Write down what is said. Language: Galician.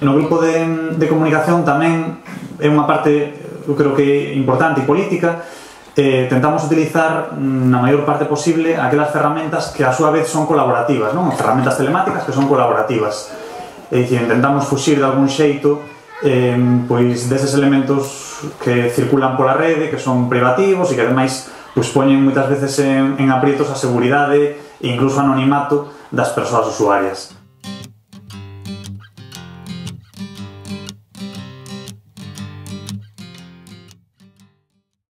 No grupo de comunicación tamén é unha parte, eu creo que importante e política. Tentamos utilizar na maior parte posible aquelas ferramentas que a súa vez son colaborativas, non? Ferramentas telemáticas que son colaborativas. É dicir, intentamos fuxir de algún xeito pois deses elementos que circulan pola rede, que son privativos e que ademais poñen moitas veces en aprietos a seguridade e incluso o anonimato das persoas usuarias.